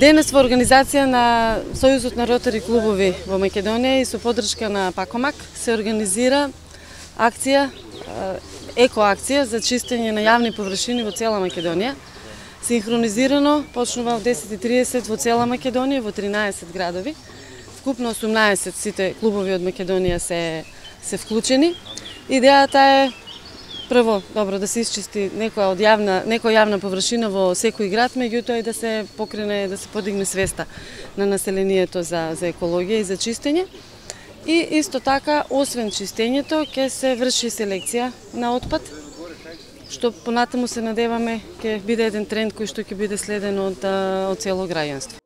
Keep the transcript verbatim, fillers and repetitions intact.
Денес во организација на Сојузот на ротари клубови во Македонија и со поддршка на Пакомак се организира акција, екоакција за чистење на јавни површини во цела Македонија. Синхронизирано почнува во десет и тридесет во цела Македонија, во тринаесет градови. Вкупно осумнаесет сите клубови од Македонија се се вклучени. Идејата е прво, добро, да се исчисти некоја од јавна, некоја јавна површина во секој град, меѓутоа и да се покрене, да се подигне свеста на населението за за екологија и за чистење. И исто така, освен чистењето, ќе се врши селекција на отпад, што понатаму се надеваме ќе биде еден тренд кој што ќе биде следен од од цело граѓанство.